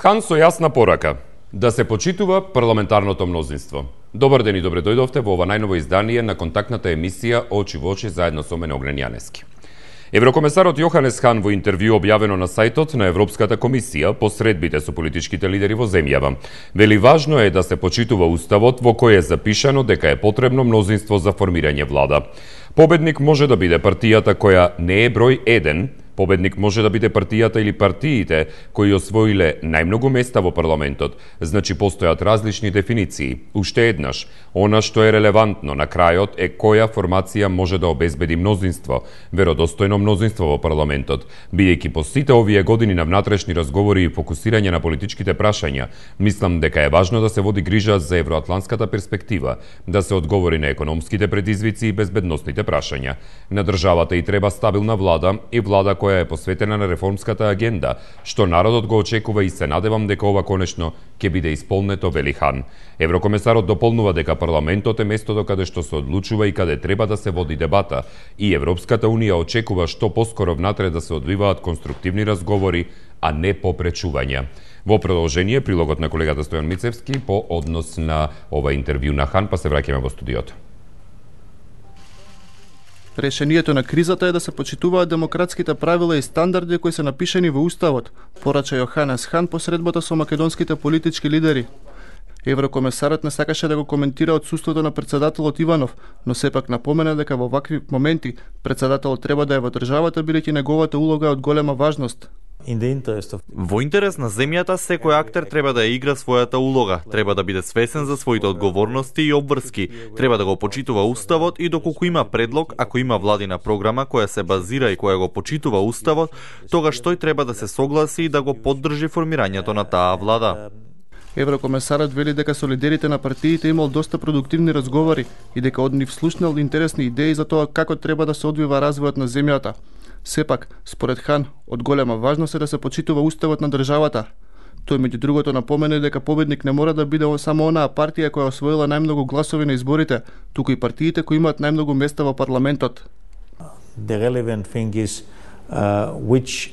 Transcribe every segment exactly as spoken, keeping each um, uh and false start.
Хан со јасна порака да се почитува парламентарното мнозинство. Добар ден и добре дојдовте во ова најново издание на контактната емисија Очи во очи заедно со мене Огнен Јанески. Еврокомесарот Јоханес Хан во интервју објавено на сајтот на Европската комисија по средбите со политичките лидери во земјава вели важно е да се почитува уставот во кој е запишано дека е потребно мнозинство за формирање влада. Победник може да биде партијата која не е број еден, победник може да биде партијата или партиите кои освоиле најмногу места во парламентот. Значи постојат различни дефиниции. Уште еднаш, она што е релевантно на крајот е која формација може да обезбеди мнозинство, веродостојно мнозинство во парламентот. Бидејќи по сите овие години на внатрешни разговори и фокусирање на политичките прашања, мислам дека е важно да се води грижа за евроатланската перспектива, да се одговори на економските предизвици и безбедносните прашања. На државата и треба стабилна влада и влада која е посветена на реформската агенда, што народот го очекува и се надевам дека ова конечно ќе биде исполнето, вели Хан. Еврокомесарот дополнува дека парламентот е местото каде што се одлучува и каде треба да се води дебата и Европската унија очекува што поскоро внатре да се одвиваат конструктивни разговори, а не попречувања. Во продолжение прилогот на колегата Стојан Мицевски по однос на ова интервју на Хан, па се враќаме во студиото. Решението на кризата е да се почитуваат демократските правила и стандарди кои се напишани во уставот, порача Јоханес Хан по средбата со македонските политички лидери. Еврокомесарот не сакаше да го коментира отсуството на председателот Иванов, но сепак напомена дека во вакви моменти председателот треба да е во државата, бидејќи неговата улога е од голема важност. Во интерес на земјата, секој актер треба да ја игра својата улога, треба да биде свесен за своите одговорности и обврски, треба да го почитува уставот и доколку има предлог, ако има владина програма која се базира и која го почитува уставот, тогаш тој треба да се согласи и да го поддржи формирањето на таа влада. Еврокомесарот вели дека со лидерите на партиите имал доста продуктивни разговори и дека од нив слушнал интересни идеи за тоа како треба да се одвива развојот на земјата. Сепак, според Хан, од голема важност е да се почитува уставот на државата. Тој меѓу другото напомена дека победник не мора да биде само онаа партија која освоила најмногу гласови на изборите, туку и партиите кои имаат најмногу места во парламентот. The relevant thing is uh, which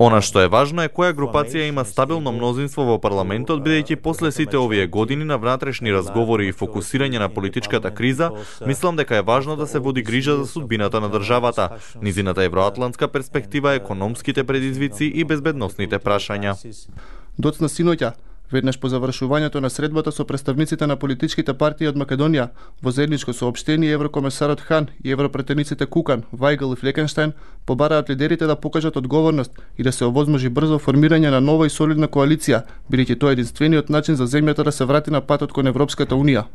Она што е важно е која групација има стабилно мнозинство во парламентот, бидејќи после сите овие години на внатрешни разговори и фокусирање на политичката криза, мислам дека е важно да се води грижа за судбината на државата, низината евроатлантска перспектива, економските предизвици и безбедносните прашања. Доцна синоќа, веднаш по завршувањето на средбата со представниците на политичките партии од Македонија, во заедничко соопштение еврокомесарот Хан и европретениците Кукан, Вајгл и Флекенштајн побараат лидерите да покажат одговорност и да се овозможи брзо формирање на нова и солидна коалиција, бидејќи тоа е единствениот начин за земјата да се врати на патот кон Европската унија.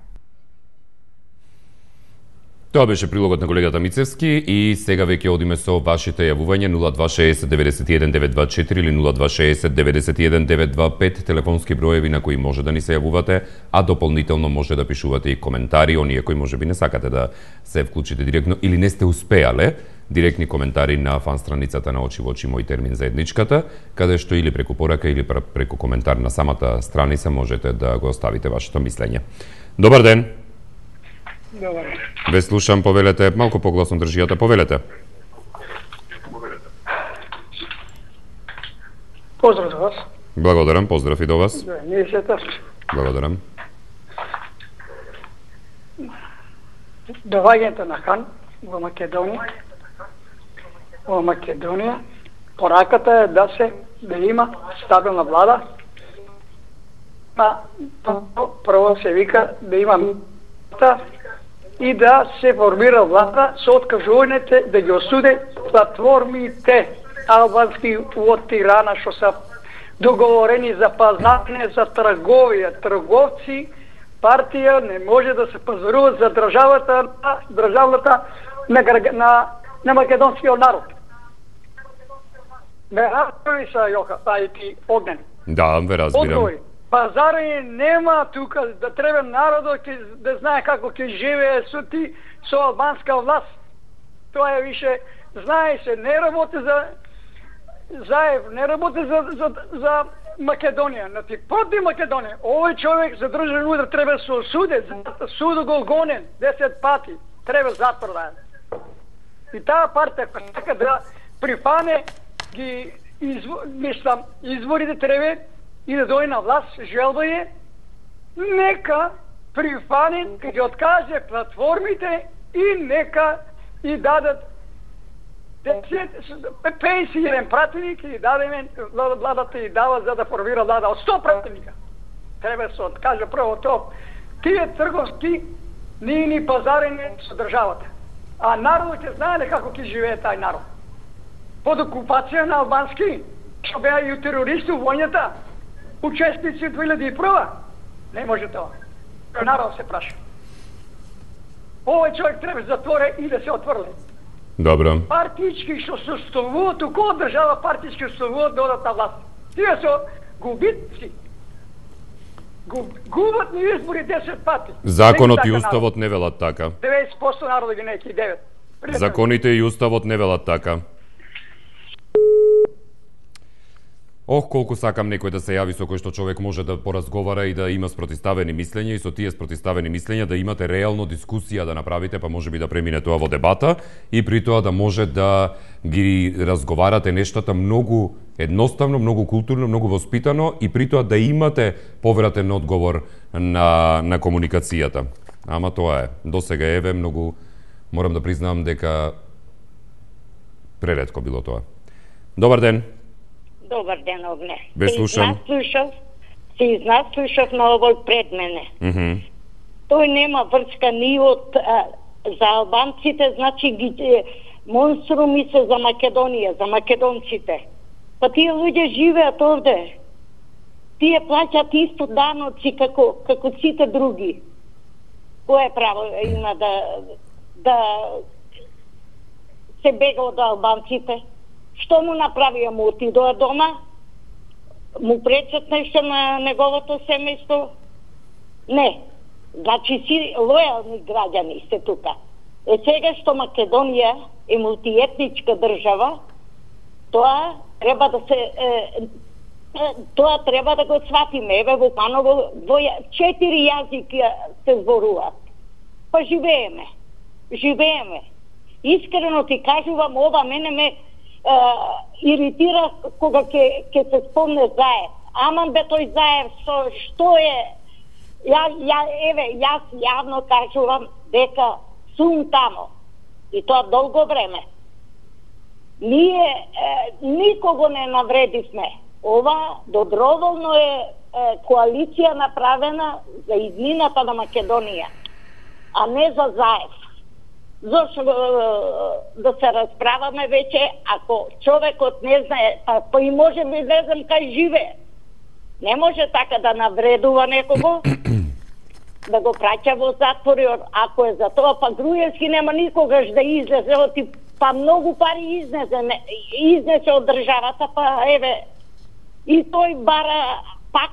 Тоа беше прилогот на колегата Мицевски и сега веќе одиме со вашите јавувања нула два шест деведесет и еден девет два четири или нула два шест деведесет и еден девет два пет телефонски броеви на кои може да ни се јавувате, а дополнително може да пишувате и коментари, оние кои можеби не сакате да се вклучите директно или не сте успеале, директни коментари на фан страницата на Очи во очи мој термин заедничката, каде што или преку порака или преку коментар на самата страница можете да го оставите вашето мислење. Добар ден. Добар. Ве слушам, повелете, малку погласно држијата, повелете. Поздрав за вас. Благодарам, поздрав и до вас. Да, не се таш. Благодарам. Доваѓањето на Хан во Македонија, во Македонија, пораката е да се да има стабилна влада. Па прво се вика да има и да се формира влада со откажувањето да ги осуде платформите албански од Тирана што се договорени за пазарне, за трговија. Трговци, партија не може да се пазарува за државата, државната на, на, на македонскиот народ. Ме разбирај са, Јоха, ај ти Огнен. Да, ве разбирам. Одговори. Пазари нема тука, да треба народот да знае како ќе живее со ти со албанска власт. Тоа е више, знае се, не работи за Заев, не работи за за за Македонија, на ти проти Македонија. Овој човек за државен удар треба се осуде, за судо го гонен десет пати, треба затвор да е. И таа партија која сака да прифане ги изв... мислам, изворите треба и да дојде на власт, желба е нека прифани, ќе откаже платформите и нека и дадат петдесет и еден пратеник и дадеме, владата и дава за да формира влада од сто пратеника. Треба да се откаже прво тоа. Тие трговски нини пазарени со државата. А народот ќе знае како ќе живее тај народ. Под окупација на албански, што беа и терористи у војната, учесници две илјади и прва. Не може тоа. Народ се праша. Овој човек треба да затворе и да се отврли. Добро. Партички што составуваат, у која држава партички составуваат додат на власт. Тие се губитци. Губат ни избори десет пати. Законот и уставот не велат така. деветдесет проценти народа ги неки девет. Законите и уставот не велат така. Ох, колку сакам некој да се јави со кој што човек може да поразговара и да има спротиставени мислења и со тие спротиставени мислења да имате реално дискусија да направите, па може би да премине тоа во дебата и при тоа да може да ги разговарате нештата многу едноставно, многу културно, многу воспитано и при тоа да имате повратен одговор на, на комуникацијата. Ама тоа е. Досега еве многу, морам да признам дека преретко било тоа. Добар ден. Добар ден, Огне. Бе слушам. Се изнаслушав на овој пред мене. Mm -hmm. Тој нема врска ни од а, за албанците, значи ги монструми се за Македонија, за македонците. Па тие луѓе живеат овде. Тие плаќат исто даноци како како сите други. Кое право има да да се бега од албанците? Што му направија? Му отидоа дома? Му пречат нешто на неговото семејство? Не. Значи си лојални граѓани сте тука. Е сега што Македонија е мултиетничка држава, тоа треба да се е, е, тоа треба да го сватиме. Еве во Паново двоја четири јазика се зборуваат. Па живееме. Живееме. Искрено ти кажувам, ова мене ме Uh, иритира кога ќе ќе се спомне Заев. Аман бе тој Заев со што е ја ја еве јас јавно кажувам дека сум тамо. И тоа долго време. Ние е, никого не навредивме. Ова доброволно е, е коалиција направена за иднината на Македонија, а не за Заев. Зошто да се расправаме веќе, ако човекот не знае, па, па и може би не знам кај живее. Не може така да навредува некого, да го праќа во затвори, ако е за тоа, па Груевски нема никогаш да излезе, оти, па многу пари изнесе, изнесе од државата, па еве, и тој бара пак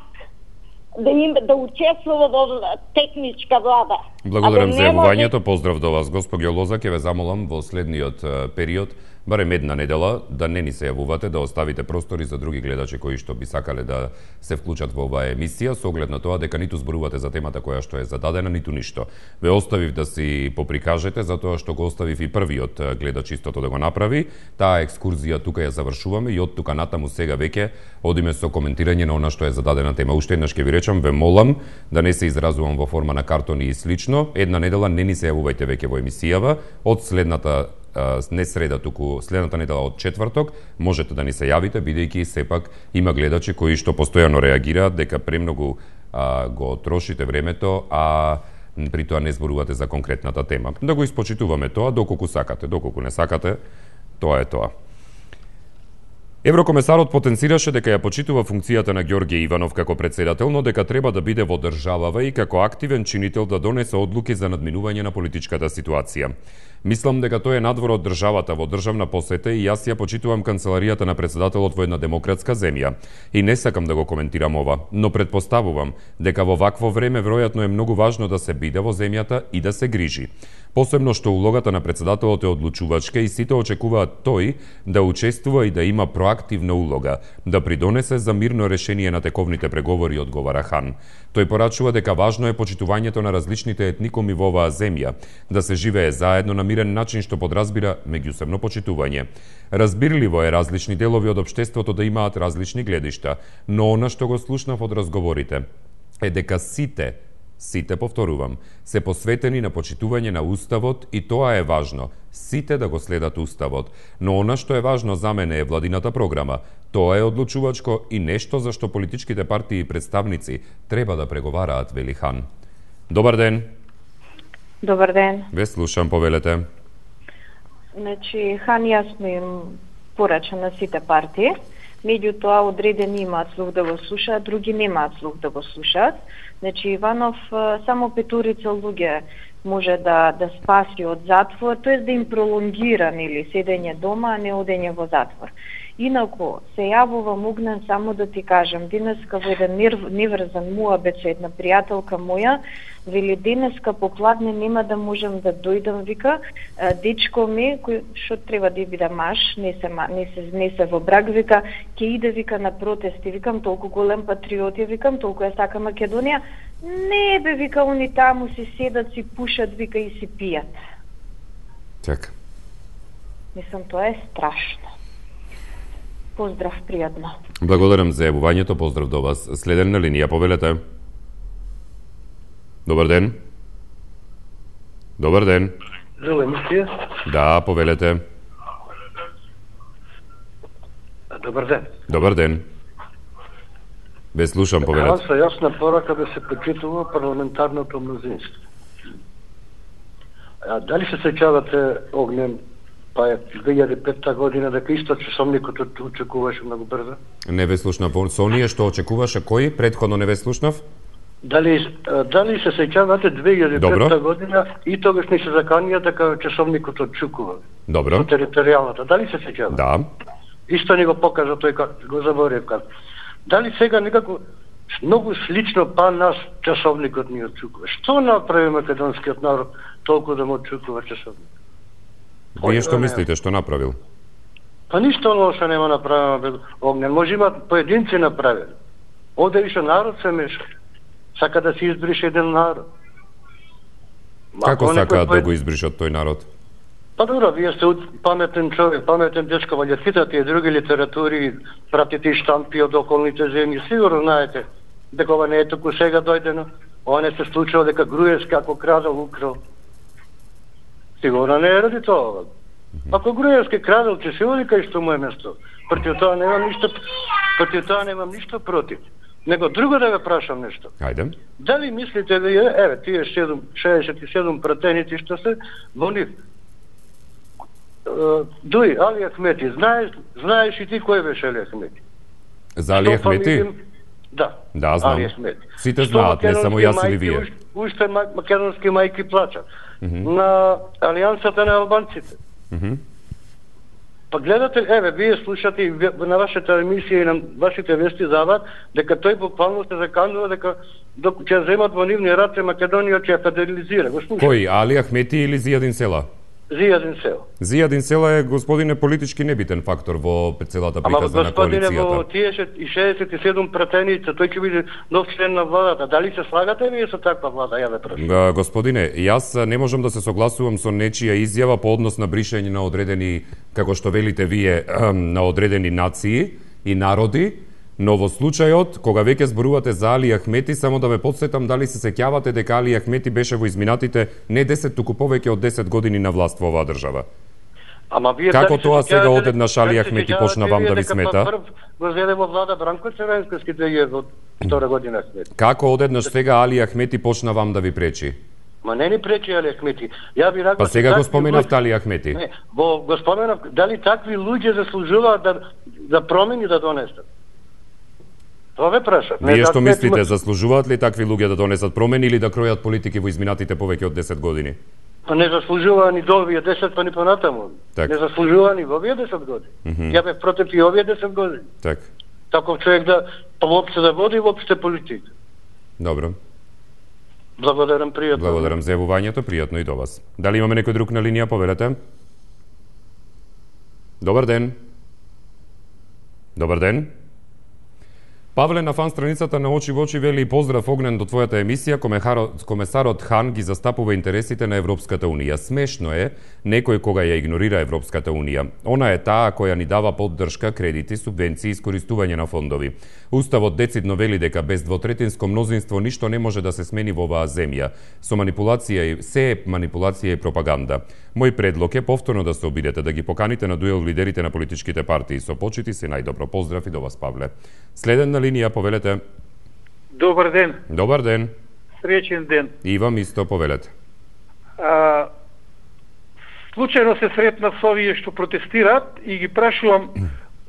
да им да учествува во техничка влада. Благодарам за јавувањето, поздрав до вас, госпоѓо Лоза, ќе ве замолам во следниот период, барем една недела, да не ни се јавувате, да оставите простори за други гледачи кои што би сакале да се вклучат во оваа емисија, со оглед на тоа дека ниту зборувате за темата која што е зададена, ниту ништо. Ве оставив да си поприкажете, затоа што го оставив и првиот гледач истото да го направи. Таа екскурзија тука ја завршуваме и од тука натаму сега веќе одиме со коментирање на она што е зададена тема. Уште еднаш ќе ви речам, ве молам да не се изразувам во форма на картони и слично. Една недела не ни се јавувајте веќе во емисијава. Од следната не среда, туку следната недела од четврток, можете да ни се јавите, бидејќи сепак има гледачи кои што постојано реагираат дека премногу а, го трошите времето, а при тоа не зборувате за конкретната тема. Да го испочитуваме тоа доколку сакате, доколку не сакате, тоа е тоа. Еврокомесарот потенцираше дека ја почитува функцијата на Ѓорѓе Иванов како председател, но дека треба да биде во државава и како активен чинител да донесе одлуки за надминување на политичката ситуација. Мислам дека тој е надвор од државата во државна посета и јас ја почитувам канцеларијата на председателот во една демократска земја. И не сакам да го коментирам ова, но предпоставувам дека во вакво време веројатно е многу важно да се биде во земјата и да се грижи. Посебно што улогата на председателот е одлучувачка и сите очекуваат тој да учествува и да има проактивна улога, да придонесе за мирно решение на тековните преговори, одговара Хан. Тој порачува дека важно е почитувањето на различните етникуми во оваа земја, да се живее заедно на мирен начин што подразбира меѓусебно почитување. Разбирливо е различни делови од општеството да имаат различни гледишта, но она што го слушнав од разговорите е дека сите, сите повторувам, се посветени на почитување на Уставот и тоа е важно, сите да го следат Уставот. Но она што е важно за мене е владината програма. Тоа е одлучувачко и нешто за што политичките партии и представници треба да преговараат, вели Хан. Добар ден. Добар ден. Ве слушам, повелете. Значи, Хан јасно им порача на сите партии. Меѓутоа, одредени имаат слух да го слушаат, други немаат слух да го слушаат. Значи, Иванов само петурица луѓе може да да спаси од затвор, тоест да им пролонгира нели седење дома, а не одење во затвор. Инаку, се јавувам Угнен само да ти кажам, денеска во еден неврзан муабет со една пријателка моја, вели денеска попладне нема да можам да дојдам, вика, дечко ми, кој што треба да биде маж, не се не се не се во брак, вика, ќе иде, вика, на протести, викам, толку голем патриот е, викам, толку ја сака Македонија. Не бе, вика, они таму си седат, си пушат, вика, и си пијат. Така. Мислам, тоа е страшно. Поздрав, пријатно. Благодарам за јавувањето, поздрав до вас. Следен на линија, повелете. Добар ден. Добар ден. Зеле, мислија? Да, повелете. Добар ден. Добар ден. Ве слушам, повелете. Јас са јасна порака да се почитува парламентарното мнозинство. А дали се сеќавате, Огнен, па е две илјади и петта година, дека исто часовникот очекуваше многу брзо? Не ве слушнав. Со оние што очекуваше кој? Предходно не ве слушнав? Дали, дали се сеќавате две илјади и петта година и тогаш не се заканија дека часовникот очекува? Добро. Со територијалната. Дали се сеќавате? Да. Исто ни го покажа тој, го заборев како. Дали сега некако многу слично па нас часовникот ни очекува? Што направи македонскиот народ толку да му очекува часовник? Вие што мислите, што направил? Па ништо лошо нема направено, Огнен. Може има поединци направени. Оде више народ се меша. Сака да се избрише еден народ. Како сакаат да го избришат тој народ? Па добро, вие сте паметен човек, паметен дечко, ваljda читате и други литератури, пратите и штампи од околните земји, сигурно знаете дека ова не е току сега дојдено, ова не се случува дека Груевски ако крадел, украл. Сигурно не е ради тоа. Ако Груевски крадел, ќе се оди кај што му е место. Против тоа немам ништо, против тоа немам ништо против. Него друго да ве прашам нешто. Ајде. Дали мислите вие, еве, тие шеесет и седум пратеници што се во нив? Дуј, Али Ахмети, знаеш, знаеш и ти кој беше Али Ахмети? За Али Ахмети? Да. Да, знам. Али Ахмети. Сите знаат, не само јас или вие. Уште македонски мајки плачат. На Алијансата на албанците. Па гледате, еве, вие слушате на вашата емисија и на вашите вести зават, дека тој буквално се заканува дека док ќе земат во нивни раце Македонија ќе ја федерализира. Го слушате? Кој, Али Ахмети или Зијадин Села? Зијадин Села. Зијадин Села е, господине, политички небитен фактор во целата приказна на коалицијата. Ама, господине, во тие шеесет и седум пратеници, тој ќе биде нов член на владата. Дали се слагате вие со таква влада, ја ве прашам? Господине, јас не можам да се согласувам со нечија изјава по однос на бришење на одредени, како што велите вие, на одредени нации и народи, но во случајот, кога веќе зборувате за Али Ахмети, само да ме подсетам дали се сеќавате дека Али Ахмети беше во изминатите не десет, туку повеќе од десет години на власт во оваа држава. Ама вие како тоа сега одеднаш Али Ахмети почна вам да ви смета? Прв го зеде во влада Бранко Црвенски две илјади и втора година смета. Како одеднаш сега Али Ахмети почна вам да ви пречи? Ма не ни пречи Али Ахмети. Ја би ракол. Па сега го споменавте Али Ахмети. Не, во го споменав дали такви луѓе заслужуваат да да промени да донесат. Тоа ве прашам. Вие што мислите, заслужуваат ли такви луѓе да донесат промени или да кројат политики во изминатите повеќе од десет години? Па не заслужува ни до овие десет, па ни понатаму. Так. Не заслужува ни во овие десет години. Mm -hmm. Ја бев против и овие десет години. Так. Таков човек да воопште да води воопште политика. Добро. Благодарам, пријатно. Благодарам за јавувањето, пријатно и до вас. Дали имаме некој друг на линија, повелете? Добар ден. Добар ден. Павле, на фан страницата на Очи во очи вели: поздрав огнен до твојата емисија, комесарот Хан ги застапува интересите на Европската Унија. Смешно е некој кога ја игнорира Европската Унија. Она е таа која ни дава поддршка, кредити, субвенции и искористување на фондови. Уставот децидно вели дека без двотретинско мнозинство ништо не може да се смени во оваа земја. Со манипулација и се е манипулација и пропаганда. Мој предлог е повторно да се обидете, да ги поканите на дуел лидерите на политичките партии. Со почити се најдобро. Поздрав и до вас, Павле. Следен на линија, повелете. Добар ден. Добар ден. Среќен ден. И вам исто, повелете. А, случајно се сретнав со овие што протестираат и ги прашувам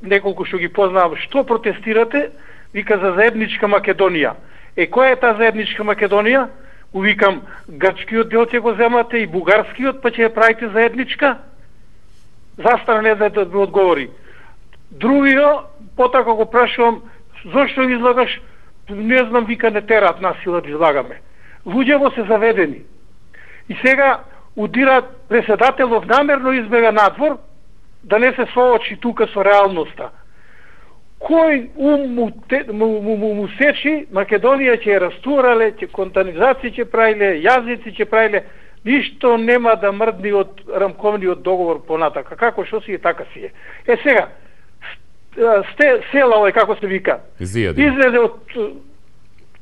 неколку што ги познавам, што протестирате? Вика за заедничка Македонија. Е, која е таа заедничка Македонија? Увикам, грчкиот дел ќе го земате и бугарскиот, па ќе ја правите заедничка? Застана не да ми одговори. Другиот, потако го прашувам, зошто излагаш? Не знам, вика, не терат нас сила да излагаме. Луѓево се заведени. И сега удира председателов намерно избега надвор да не се соочи тука со реалноста. Кој ум му, те, му, му, му, му сечи, Македонија ќе растурале, ќе контанизација ќе правиле, јазици ќе правиле, ништо нема да мрдни од рамковниот договор понатака. Како што си е, така си е. Е сега, сте села овој, како се вика, излезе од,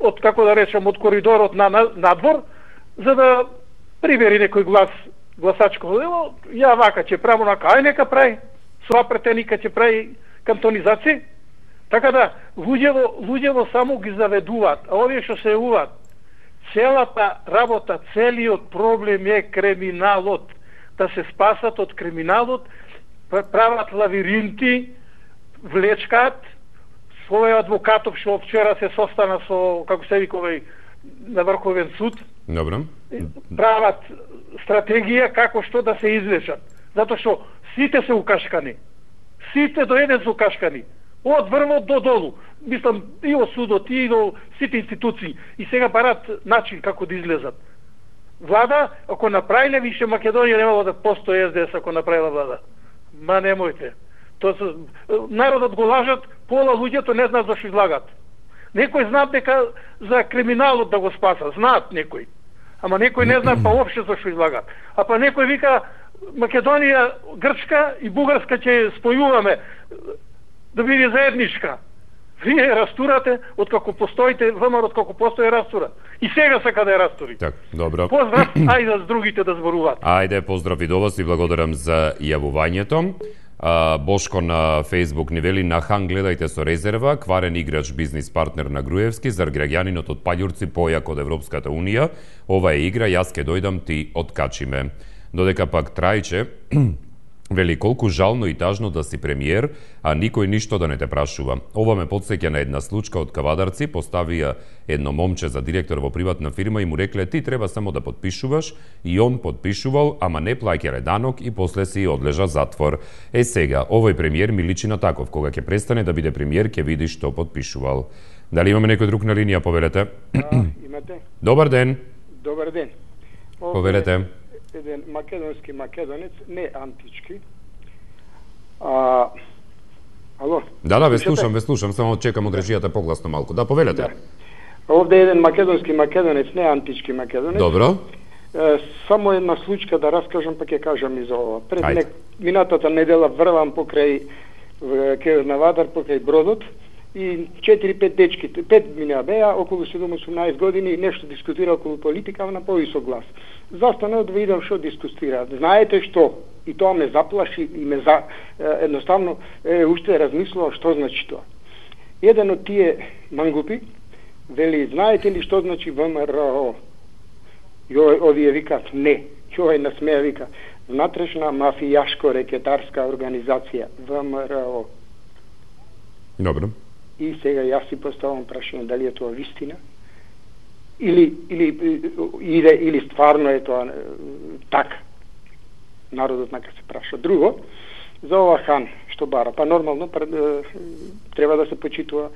од, како да речам, од коридорот на, на надвор, за да прибери некој глас, гласачко. Ја вака ќе правам онака, ај нека прави, со претеника ќе прави кантонизација. Така да, луѓево, луѓево само ги заведуваат, а овие што се јавуваат, целата работа, целиот проблем е криминалот. Да се спасат од криминалот, прават лавиринти, влечкаат, свој адвокатов што вчера се состана со, како се вика овој, на Врховен суд. Добро. Прават стратегија како што да се извлечат. Затоа што сите се укашкани. Сите до еден се укашкани. Од врвот до долу. Мислам, и од судот, и до сите институции. И сега барат начин како да излезат. Влада, ако направиле, више Македонија немало да постои Ес Де Ес ако направила влада. Ма немојте. То се, народот го лажат, пола луѓето не знаат зашто излагат. Некој знаат дека за криминалот да го спаса, знаат некој. Ама некој не знаат па воопшто зашто излагат. А па некој вика Македонија, Грчка и Бугарска ќе спојуваме да биде заедничка. Вие растурате откако постоите, ВМРО откако постои растура. И сега сака да ја растури. Так, добро. Поздрав, ајде с другите да зборуваат. Ајде, поздрав и до вас и благодарам за јавувањето. А, Бошко на Фейсбук ни вели: на Хан гледајте со резерва, кварен играч, бизнис партнер на Груевски, зар граѓанинот од Паѓурци појак од Европската Унија, ова е игра, јас ке дојдам, ти откачиме. Додека пак Трајче вели: колку жално и тажно да си премиер, а никој ништо да не те прашува. Ова ме потсеќа на една случка од Кавадарци, поставија едно момче за директор во приватна фирма и му рекле: ти треба само да подпишуваш, и он подпишувал, ама не плаќале данок и после си одлежа затвор. Е сега, овој премиер ми личи на таков, кога ќе престане да биде премиер, ќе види што подпишувал. Дали имаме некој друг на линија, повелете? А, имате? Добар ден. Добар ден. Овде повелете. Еден македонски македонец, не антички. А, ало? Да, да, ве слушам, ве слушам, само чекам од режијата погласно малку. Да, повелете. Да. Овде еден македонски македонец, не антички македонец. Добро. Е, само една случка да раскажам, па ќе кажам и за ова. Пред нек, минатата недела врвам покрај Кевер на Вадар, покрај бродот, и четири-пет дечки, пет мина беа, околу седум-осумнаесет години, нешто дискутира околу политика на повисок глас. Застанав да видам што дискутираат. Знаете што? И тоа ме заплаши и ме за едноставно е, уште размислува што значи тоа. Еден од тие мангупи вели: знаете ли што значи ВМРО? И овие викат: не. И овој насмеа вика: внатрешна мафијашко-рекетарска организација, ВМРО. Добро. И сега јас си поставам прашање дали е тоа вистина или или или, или стварно е тоа така. Народот нака се праша. Друго, за ова Хан што бара, па нормално треба да се почитува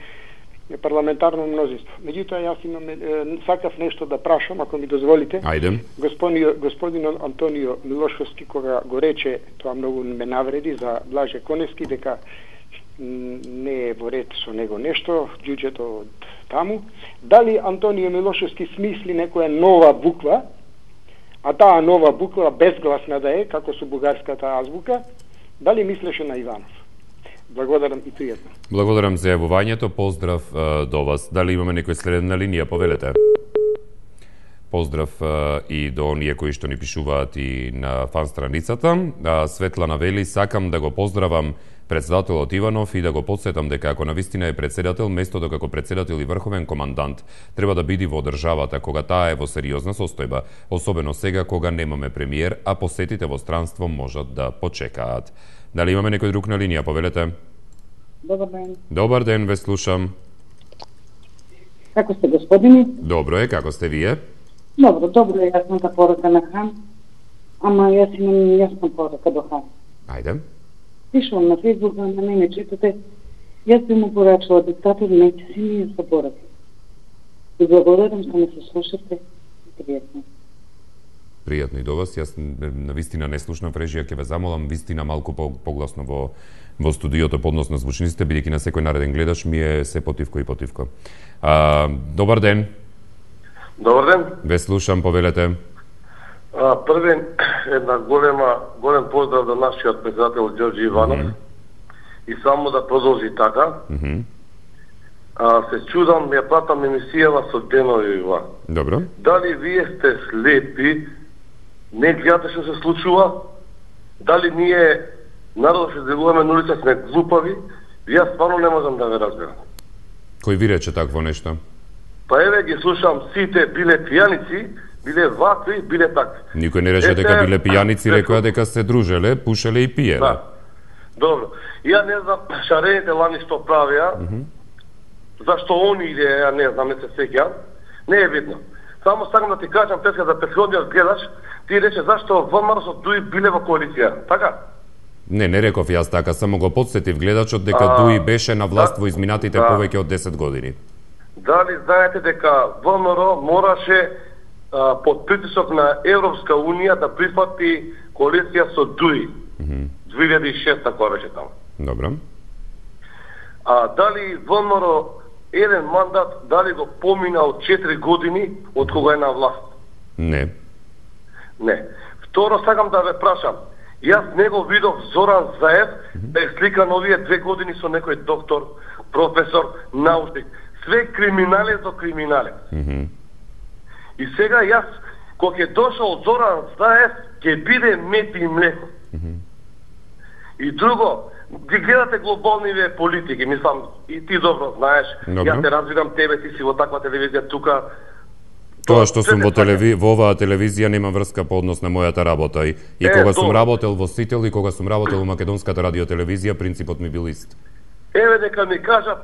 парламентарно мнозинство. Меѓутоа, јас имам е, сакав нешто да прашам, ако ми дозволите. Ајде. Господин, господин Антонио Милошовски, кога го рече, тоа многу ме навреди за Блаже Коневски, дека не е во ред со него нешто, ѓуѓето од таму. Дали Антонио Милошовски смисли некоја нова буква, а таа нова буква безгласна да е, како со бугарската азбука, дали мислеше на Иванов? Благодарам и пријатно. Благодарам за јавувањето, поздрав uh, до вас. Дали имаме некој следен на линија, повелете. Поздрав uh, и до оние кои што ни пишуваат и на фан страницата. Uh, Светлана вели, сакам да го поздравам председателот Иванов и да го подсетам дека ако навистина е председател, место да како председател и врховен командант, треба да биде во државата кога таа е во сериозна состојба, особено сега кога немаме премиер, а посетите во странство можат да почекаат. Дали имаме некој друг на линија, повелете? Добар ден. Добар ден, ве слушам. Како сте, господини? Добро е, како сте вие? Добро, добро е јасната порака на Хан, ама јас имам јасна порака до Хан. Ајде. Пишувам на Фейсбук, на мене читате, јас би му порачала диктатор, не ќе си ми ја заборави. И благодарам што ме се слушате, пријатно. Пријатно и до вас. Јас на вистина не слушнам режија, ќе ве замолам вистина малку погласно во во студиото поднос на звучниците, бидејќи на секој нареден гледаш ми е се потивко и потивко. А, добар ден. Добар ден. Ве слушам, повелете. А, првен една голема голем поздрав до нашиот председател Ѓорѓе Иванов. Mm -hmm. И само да продолжи така. Mm -hmm. А, се чудам, ја пратам емисијава со деновива. Добро. Дали вие сте слепи? Не гледате што се случува? Дали ние народот се делуваме на улица, сме глупави? Јас стварно не можам да ве разберам. Кој ви рече такво нешто? Па еве ги слушам, сите биле пијаници, биле вакви, биле такви. Никој не рече дека биле пијаници, рекоа дека се дружеле, пушеле и пиеле. Да. Добро. Ја не знам шарените лани што правеа. Mm -hmm. Зашто они иде, ја не знам, не се сеќам. Не е видно. Само сакам да ти кажам, Петка, за претходниот гледаш, ти рече зашто ВМРО со Дуи биле во коалиција, така? Не, не реков јас така, само го подсетив гледачот дека а, Дуи беше на власт да, во изминатите да. повеќе од десет години. Дали знаете дека ВМРО мораше а, под притисок на Европска унија да прифати коалиција со Дуи? Mm -hmm. две илјади и шеста кога беше таму. Добро. А дали ВМРО еден мандат, дали го поминал четири години од кога е на власт? Не. Не. Второ, сакам да ве прашам. Јас не го видов Зоран Заев да е сликан овие две години со некој доктор, професор, научник. Све криминалец до криминалец. Mm -hmm. И сега јас, кога ќе дошол Зоран Заев, ќе биде мет и млеко. Mm -hmm. И друго, ги гледате глобалниве политики, мислам, и ти добро знаеш, добро. Јас те разбирам тебе, ти си во таква телевизија тука. Тоа што сум во телеви... во оваа телевизија нема врска по однос на мојата работа. И, и кога е, сум добро. работел во Сител и кога сум работел во Македонската радиотелевизија, принципот ми бил ист. Еве дека ми кажат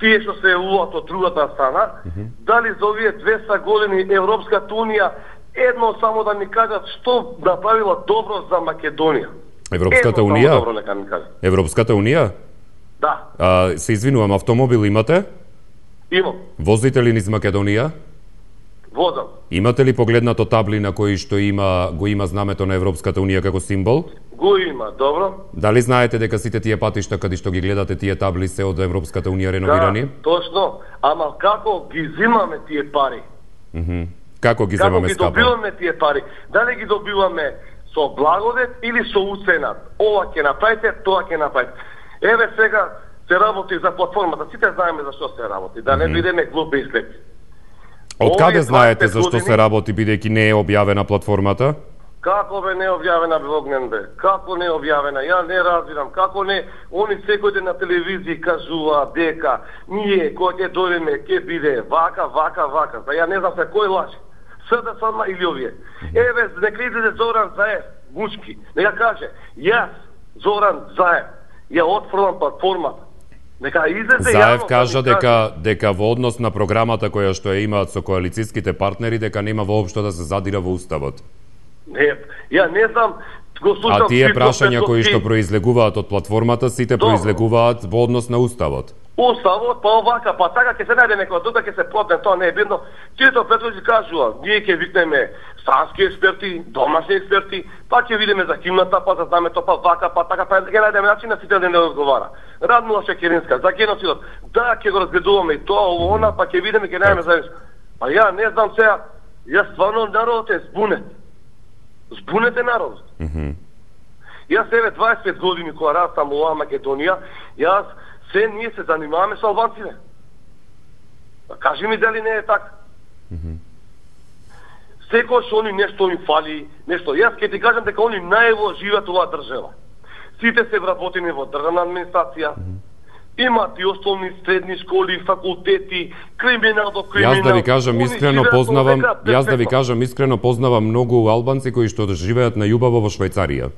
тие што се јавуваат од другата страна, mm -hmm. дали за овие двеста години Европската унија едно само да ми кажат што направила добро за Македонија. Европската едно унија? Добро, нека ми кажат. Европската унија? Да. А, се извинувам, автомобил имате? Имам. Возите ли низ Македонија? Возам. Имате ли погледнато табли на кои што има го има знамето на Европската унија како символ? Го има, добро. Дали знаете дека сите тие патишта каде што ги гледате тие табли се од Европската унија реновирани? Да, точно. Ама како ги зимаме тие пари? Mm -hmm. Како ги земаме скапо? Како ги добиваме тие пари? Дали ги добиваме со благодет или со уценат? Ова ќе направите, тоа ќе направите. Еве сега се работи за платформата. Сите знаеме за што се работи, да не mm -hmm. бидеме глупи и слепи. Од каде знаете за што се работи, бидејќи не е објавена платформата? Како бе не е објавена, бе Огнен, бе? Како не е објавена? Ја не разбирам. Како не? Они секој ден на телевизија кажуваат дека ние, кога ќе дојдеме, ќе биде вака, вака, вака. Па ја не знам се кој лажи. СДСМ или овие. Еве, нека излезе Зоран Заев, мушки. Нека каже, јас, Зоран Заев, ја отфрлам платформата. Нека излезе Заев јавно, кажа дека дека во однос на програмата која што ја имаат со коалицијските партнери, дека нема воопшто да се задира во уставот. Не, ја не знам, го слушам. А тие прашања кои што произлегуваат од платформата, сите Добро. произлегуваат во однос на уставот. Уставот, па овака, па така ќе се најде некој тука, ќе се подне, тоа не е битно. Тие претходници кажува, ние ќе викнеме странски експерти, домашни експерти, па ќе видиме за химната, па за знамето, па вака, па така, па ќе најдеме начин на сите да не одговара. Радмила Шекеринска, за геноцидот, да ќе го разгледуваме и тоа, ово, она, па ќе видиме, ќе најдеме заедно. Па ја не знам сега, јас стварно народот е збунет. Збунет е народот. Mm -hmm. Јас еве дваесет и пет години кога растам во Македонија, јас се ние се занимаваме со албанците. Кажи ми дали не е така. Mm-hmm. Секојаш они нешто им фали, нешто. Јас ќе ти кажам дека они најво живеат оваа држава. Сите се вработени во државна администрација. Mm-hmm. Имат и основни средни школи, факултети, криминал до криминал. Јас да ви кажам искрено познавам, јас да ви кажам искрено познавам многу албанци кои што живеат на љубаво во Швајцарија.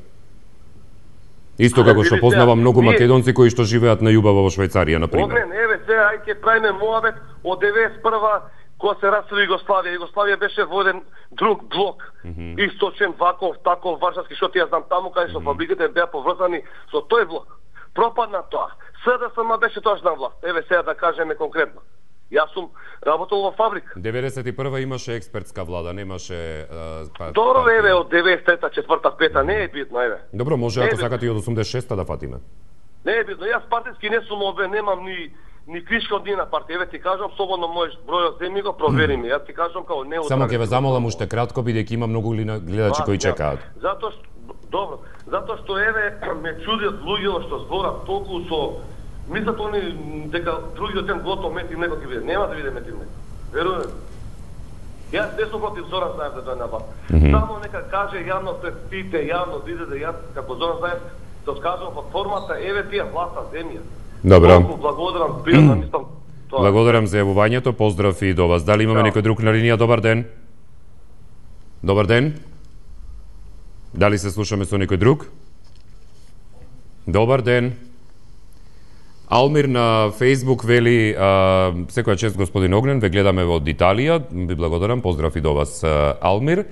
Исто како што познавам многу македонци кои што живеат на љубаво во Швајцарија, на пример. Огнен, еве сега ај ќе правиме муабет од деветдесет и прва кога се растали Југославија. Југославија беше во еден друг блок. Mm -hmm. Источен, ваков, таков, варшавски, што ти ја знам таму каде што mm -hmm. фабриките беа поврзани со тој блок. Пропадна тоа. СДСМ беше точно на власт. Еве сега да кажеме конкретно. Јас сум работел во фабрика. деветдесет и прва имаше експертска влада, немаше па, Добро, па, еве од деветдесет и трета, четврта, пета, не е битно, еве. Добро, може ако сакате и од осумдесет и шеста да фатиме. Не е битно, јас партиски не сум обе, немам ни ни кришка од нина партија. Еве ти кажам, слободно можеш бројот земи го провери ми. Јас ти кажам како не. Само ќе ве замолам уште кратко бидејќи има многу гледачи кои чекаат. Затоа што добро, затоа што еве ме чудат луѓето што зборат толку со мислат они дека другиот ден готов мети некој ќе биде. Нема да биде мети некој. Верувам. Јас не сум против Зоран Заев да дојде на власт. Само нека каже јавно пред сите, јавно да иде да јас како Зоран Заев да откажам во формата еве тие власта земја. Добро. Благодарам, пријатно мислам тоа. Благодарам за јавувањето, поздрав и до вас. Дали имаме некој друг на линија? Добар ден. Добар ден. Дали се слушаме со некој друг? Добар ден. Алмир на Фейсбук вели, а, секоја чест господин Огнен, ве гледаме од Италија, ви благодарам, поздрав и до вас, Алмир.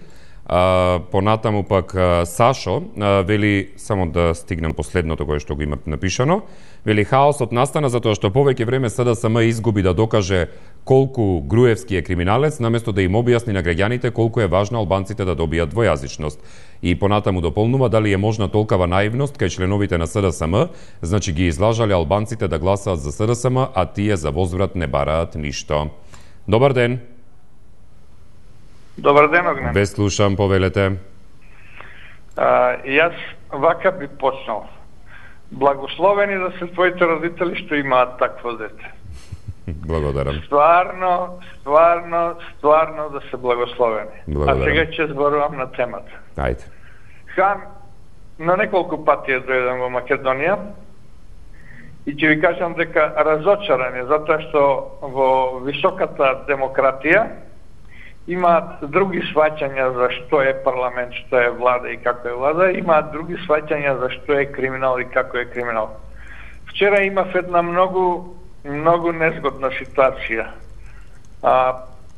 А, понатаму пак а, Сашо а, вели, само да стигнам последното кое што го имат напишано, вели хаосот настана затоа што повеќе време СДСМ изгуби да докаже колку Груевски е криминалец, наместо да им објасни на граѓаните колку е важно албанците да добијат двојазичност. И понатаму дополнува дали е можна толкава наивност кај членовите на СДСМ, значи ги излажале албанците да гласаат за СДСМ, а тие за возврат не бараат ништо. Добар ден. Добар ден, Огнен. Ве слушам, повелете. А, јас вака би почнал. Благословени да се твоите родители што имаат такво дете. Благодарам. Стварно, стварно, стварно да се благословени. Благодарам. А сега ќе зборувам на темата. Ајде. Хан на неколку пати е дојден во Македонија и ќе ви кажам дека разочаран е затоа што во високата демократија имаат други сваќања за што е парламент, што е влада и како е влада, имаат други сваќања за што е криминал и како е криминал. Вчера имав една многу многу незгодна ситуација. А,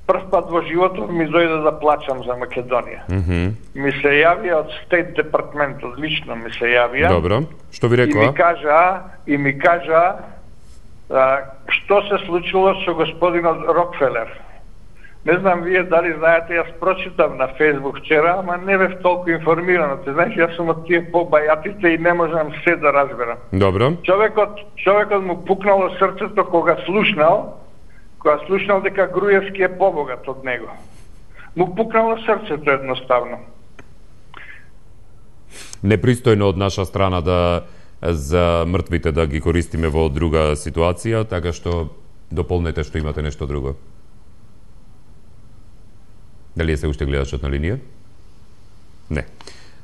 прв пат во животот ми дојде да плачам за Македонија. Mm -hmm. Ми се јавија од Стейт департментот, лично ми се јавија. Добро. Што ви рекоа? И ми кажа, и ми кажа а, што се случило со господинот Рокфелер. Не знам вие дали знаете, јас прочитав на Фейсбук вчера, ама не бев толку информиран. Те знаеш, јас сум од тие побајатите и не можам се да разберам. Добро. Човекот, човекот му пукнало срцето кога слушнал, кога слушнал дека Груевски е побогат од него. Му пукнало срцето едноставно. Непристојно од наша страна да за мртвите да ги користиме во друга ситуација, така што дополнете што имате нешто друго. Дали е се уште гледачот на линија? Не.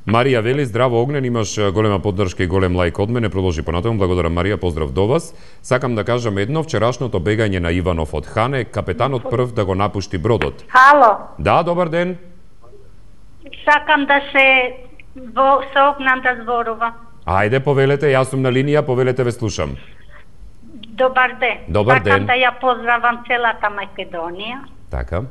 Марија вели, здраво Огнен, имаш голема поддршка и голем лајк од мене, продолжи понатаму. Благодарам Марија, поздрав до вас. Сакам да кажам едно, вчерашното бегање на Иванов од Хане, капетанот прв да го напушти бродот. Хало. Да, добар ден. Сакам да се во со Огнен да зборува. Ајде, повелете, јас сум на линија, повелете, ве слушам. Добар ден. Добар Сакам ден. да ја поздравам целата Македонија. Така.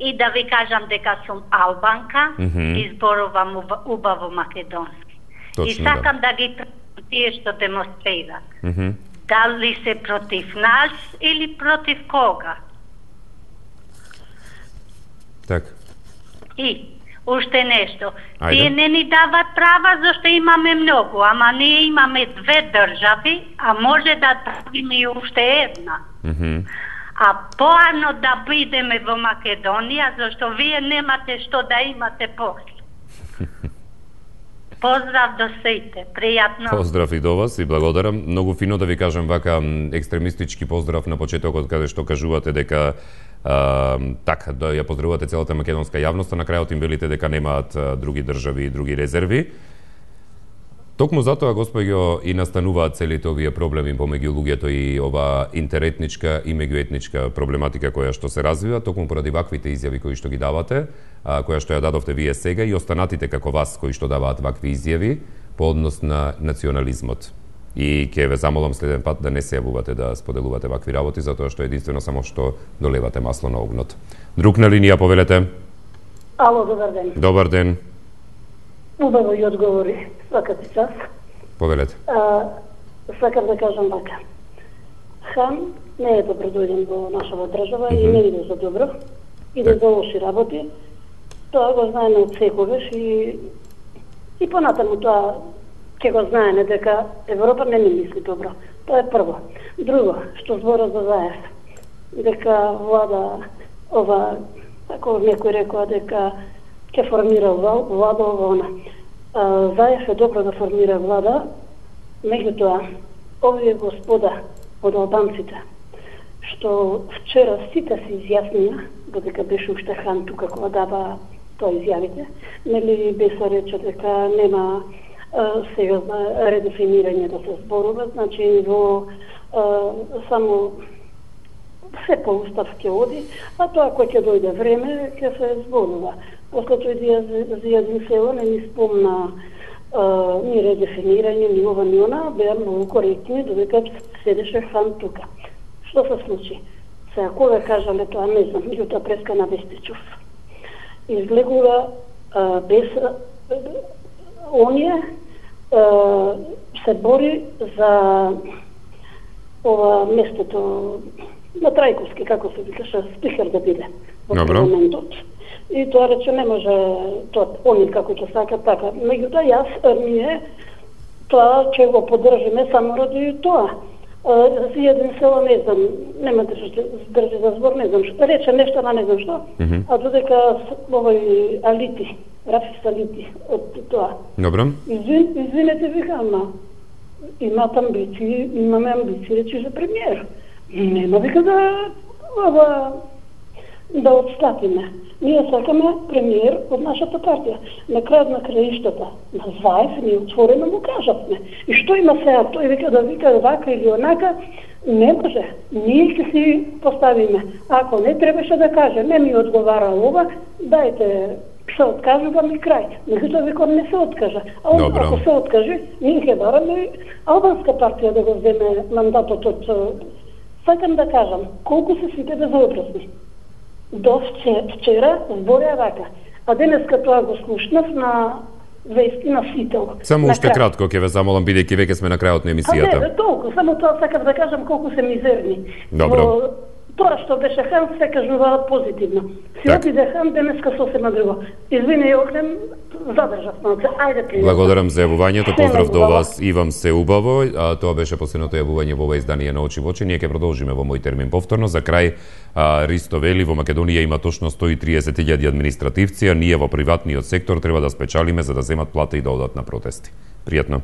И да ви кажам дека сум албанка mm -hmm. и зборувам убаво македонски. Точно, и сакам да, да ги тие што демонстрират. Mm -hmm. Дали се против нас или против кога? Так. И уште нешто. Ајде. Тие не ни дават права зашто имаме многу, ама ние имаме две држави, а може да правиме и уште една. Mm-hmm. А поано да бидеме во Македонија, зашто вие немате што да имате после. Поздрав до сите, пријатно. Поздрав и до вас и благодарам. Многу фино да ви кажам вака екстремистички поздрав на почетокот каде што кажувате дека а, така да ја поздравувате целата македонска јавност, а на крајот им велите дека немаат а, други држави и други резерви. Токму затоа, господјо, и настануваат целите овие проблеми помеѓу луѓето и ова интеретничка и меѓуетничка проблематика која што се развива, токму поради ваквите изјави кои што ги давате, а, која што ја дадовте вие сега и останатите како вас кои што даваат вакви изјави по однос на национализмот. И ќе ве замолам следен пат да не се јавувате да споделувате вакви работи, затоа што единствено само што долевате масло на огнот. Друг на линија, повелете. Ало, добар ден. Добар ден. Убаво и одговори свакати час. Повелете. А, сакам да кажам вака. Хан не е добродојден во нашава држава mm-hmm. и не иде за добро, иде за лоши работи. Тоа го знаеме од секогаш и и понатаму тоа ќе го знаеме дека Европа не ни мисли добро. Тоа е прво. Друго, што збора за Заев, дека влада ова, ако некој рекоа дека ќе формира влада ова она. Заев е добро да формира влада, меѓутоа, овие господа од албанците, што вчера сите се изјаснија, додека беше уште Хан тука кога дава тоа изјавите, нели беше рече дека нема сега редефинирање да се зборува, значи во а, само се по устав ќе оди, а тоа кој ќе дојде време ќе се зборува. После тој Зијадин Села не ни спомна а, ни редефинирање, ни ова, ни она, беа многу коректни, додека седеше Хан тука. Што се случи? Сега, кога кажале тоа, не знам, меѓутоа преска на Вестичов. Излегува а, без а, оние а, се бори за ова местото на Трајковски, како се викаше, спикер да биде во парламентот. И тоа рече не може тоа, они како ќе сакат така. Меѓутоа јас, ние, тоа ќе го поддржиме само ради тоа. Зијадин Села, не знам, нема да се држи за збор, не знам што. Рече нешто на не знам што, mm-hmm. а додека овој Алити, Рафис Алити, од тоа. Добро. Извин, извинете, вика, ама имат амбиции, имаме амбиции, речи за премиер. Нема вика да ова да отстапиме. Ние сакаме премиер од нашата партија. На крајот на краиштата, на Заев, ние отворено му кажавме. И што има сега? Тој вика да вика вака или онака, не може. Ние ќе си поставиме. Ако не требаше да каже, не ми одговара ова, дајте се откажувам и крај. Меѓутоа вика не се откажа. А он, ако се откаже, ние ќе бараме албанска партија да го земе мандатот од... Сакам да кажам, колку се сите безобразни. До вчера збореа вака, а денеска тоа го слушнав на вести на Сител. Само уште кратко ќе ве замолам, бидејќи веќе сме на крајот на емисијата. А не, толку, само тоа сакам да кажам колку се мизерни. Добро. Но, тоа што беше Хан се кажуваат позитивно. Си так. Отиде Хан, денеска сосема друго. Извини, Охлем, задржав малце. Ајде, пријатно. Благодарам за јавувањето, поздрав до вас и вам се убаво. А, тоа беше последното јавување во ова издание на Очи во очи. Ние ќе продолжиме во мој термин повторно. За крај, а, Ристо вели, во Македонија има точно сто и триесет илјади административци, а ние во приватниот сектор треба да спечалиме за да земат плата и да одат на протести. Пријатно.